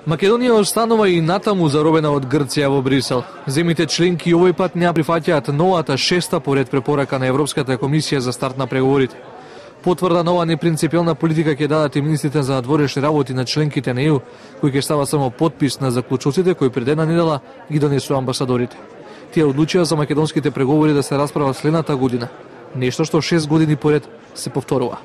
Македонија останува и натаму заробена од Грција во Брисел. Земите членки овој пат не прифаќаат новата шеста поред препорака на Европската комисија за старт на преговорите. Потврда нова непринципиелна политика ќе дадат и министрите за надворешни работи на членките на ЕУ, кои ќе става само подпис на заклучоците кои пред една недела ги донесува амбасадорите. Тие одлучија за македонските преговори да се расправат следната година, нешто што 6 години поред се повторува.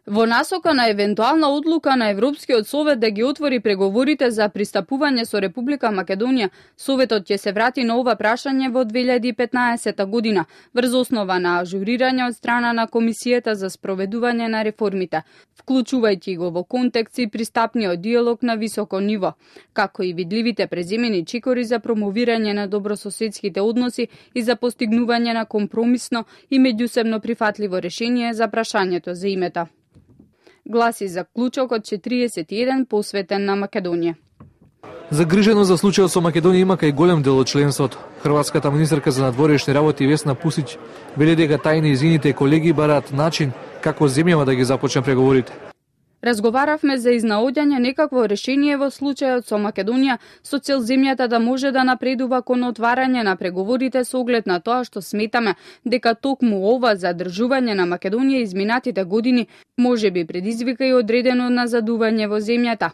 Во насока на евентуална одлука на Европскиот совет да ги отвори преговорите за пристапување со Република Македонија, Советот ќе се врати на ова прашање во 2015 година, врз основа на ажурирање од страна на Комисијата за спроведување на реформите, вклучувајќи го во контекст и пристапниот диалог на високо ниво, како и видливите преземени чекори за промовирање на добрососедските односи и за постигнување на компромисно и меѓусебно прифатливо решение за прашањето за името. Гласи заклучокот 41 посветен на Македонија. Загрижено за случајот со Македонија има кај голем дел од членството. Хрватската министерка за надворешни работи Весна Пусич вели дека тај и нејзините колеги бараат начин како земјава да ги започне преговорите. Разговаравме за изнаоѓање некакво решение во случајот со Македонија со цел земјата да може да напредува кон отварање на преговорите со оглед на тоа што сметаме дека токму ова задржување на Македонија изминатите години може би предизвика и одредено назадување во земјата.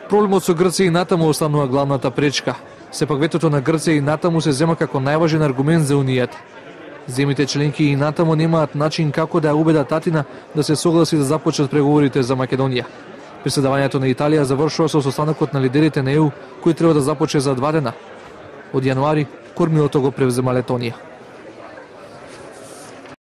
Проблемот со Грција и натаму останува главната пречка. Сепак ветото на Грција и натаму се зема како најважен аргумент за Унијата. Земите членки и натаму немаат начин како да ја убедат татина да се согласи да започнат преговорите за Македонија. Преседавањето на Италија завршува со состанокот на лидерите на ЕУ кој треба да започне за 2 дена. Од јануари кормилото го превзема Летонија.